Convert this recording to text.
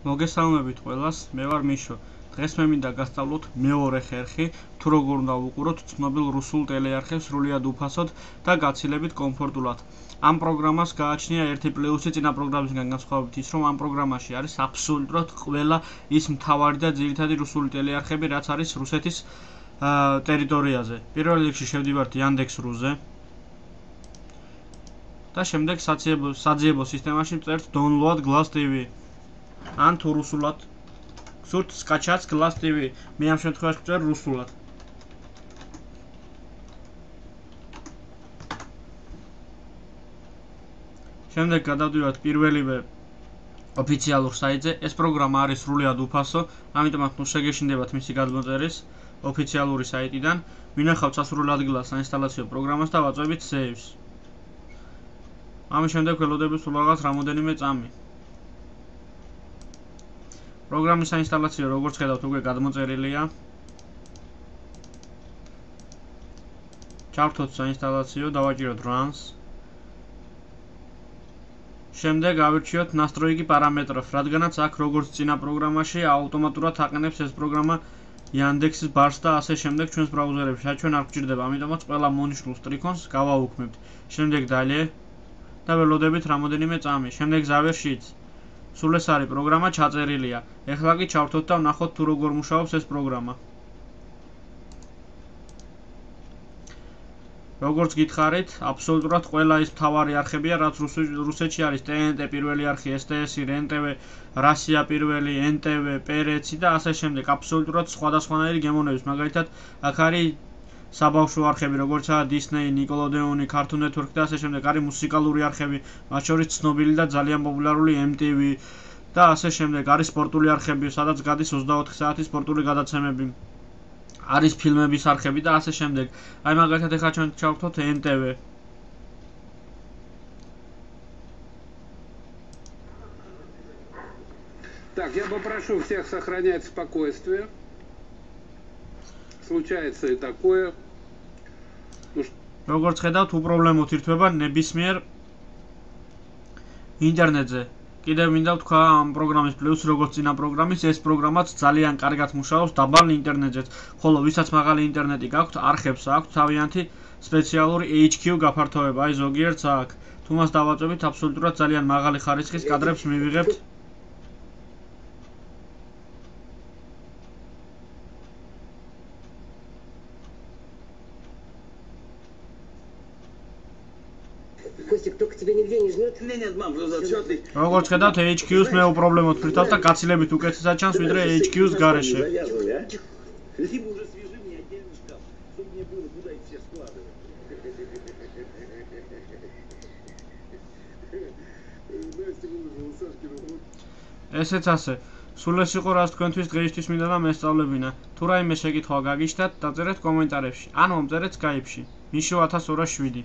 მოგესალმებით ყველას, მე ვარ მიშო. დღეს მე მინდა გასწავლოთ მეორე ხერხი, თუ როგორ უნდა ვუყუროთ ცნობილ რუსულ ტელეარხებს სრულიად უფასოდ და გაცილებით კომფორტულად. ამ პროგრამას გააჩნია ერთი პლუსი წინა პროგრამისგან განსხვავებით ის, რომ ამ პროგრამაში არის აბსოლუტურად ყველა ის მთავარი და ძირითადი რუსული ტელეარხები, რაც არის რუსეთის ტერიტორიაზე. პირველ რიგში შევდივართ Yandex.ru-ზე და შემდეგ საძიებო სისტემაში ვწერთ download Glass TV. ან თუ რუსულად გსურთ skачать Glass TV. მე ამ შემთხვევაში ვწერ რუსულად. შემდეგ გადავდივართ პირველივე ოფიციალურ საიტზე. ეს პროგრამა არის სრულიად უფასო, ამიტომაც ნუ შეგეშინდებათ მისი გადმოწერის ოფიციალური საიტიდან. ვინახავთ სასურველ ადგილას საინსტალაციო პროგრამას და ვაწვევით saves. ამის შემდეგ ველოდებით სულ რაღაც რამოდენიმე წამი. პროგრამის საინსტალაციო, როგორც ხედავთ, უკვე გადმოწერილია. ჩავთოთ საინსტალაციო, დავაჭიროთ runs. შემდეგ ავირჩიოთ настройки параметров, რადგანაც აქ როგორც წინა პროგრამაში ავტომატურად აყენებს ეს პროგრამა Yandex-ის ბარს და ასე შემდეგ ჩვენს ბრაუზერებში. ჩვენ არ გვჭირდება, ამიტომაც ყველა მონიშნულ სტრიქონს გავაუქმებთ. შემდეგ dalje და ველოდებით რამოდენიმე წამი. შემდეგ ზავერ sheets. სულ ეს არის პროგრამა ჩაწერილია. ეხლა კი ჩავთოთ და ვნახოთ თუ როგორ მუშაობს ეს პროგრამა. როგორც გითხარით, აბსოლუტურად ყველა ის მთავარი არხებია, რაც რუსეთში არის. TNT პირველი არხი, STS-ი, REN-TV, Russia პირველი, NTV, Perets და ასე შემდეგ. აბსოლუტურად სხვადასხვანაირი გემოვნების. მაგალითად, აქ არის საბავშვო არხები, როგორიცაა Disney, Nickelodeon, Cartoon Network და ასე შემდეგ. არის მუსიკალური არხები, მათ შორის ცნობილი და ძალიან პოპულარული MTV და ასე შემდეგ. არის სპორტული არხები, სადაც გადის 24 საათის სპორტული გადაცემები. არის ფილმების არხები და ასე შემდეგ. აი მაგალითად ეხლა ჩვენ ჩავთოთ NTV. Так, я попрошу всех сохранять спокойствие. Случается и такое. როგორც ხედავთ, უპრობლემოდ ირთვება ნებისმიერ ინტერნეტზე. კიდევ მინდა ვთქვა ამ პროგრამის პლუსი, როგორც წინა პროგრამის, ეს პროგრამაც ძალიან კარგად მუშაობს დაბალ ინტერნეტზეც. ხოლო ვისაც მაღალი ინტერნეტი გაქვთ, არხებს აქვთ თავიანთი სპეციალური HQ გაფართოება, აი ზოგიერთს აქ. თუ მას დავაწვევით, აბსოლუტურად ძალიან მაღალი ხარისხის კადრებს მივიღებთ. Костик, только тебя нигде не жмет? Нет, мам, зачетный. როგორც ხედავთ, HQ-ს მე უპრობლემოდ ვფრითავს და გაცილებით უკეთესად ჩანს, ვიდრე HQ-ს გარეშე. Завязывай, а? Либо уже свяжи мне отдельный шкаф, чтобы мне было куда их все складывать. Настя выложила Сашкину фото. ესეც ასე. სულ ეს იყო, რაც თქვენთვის დღეისთვის მინდა და მესწავლებინა. თუ რაიმე შეკითხვა გაგიჩნდათ, დაწერეთ კომენტარებში. ან მომწერეთ Skype-ში. მიშო 1207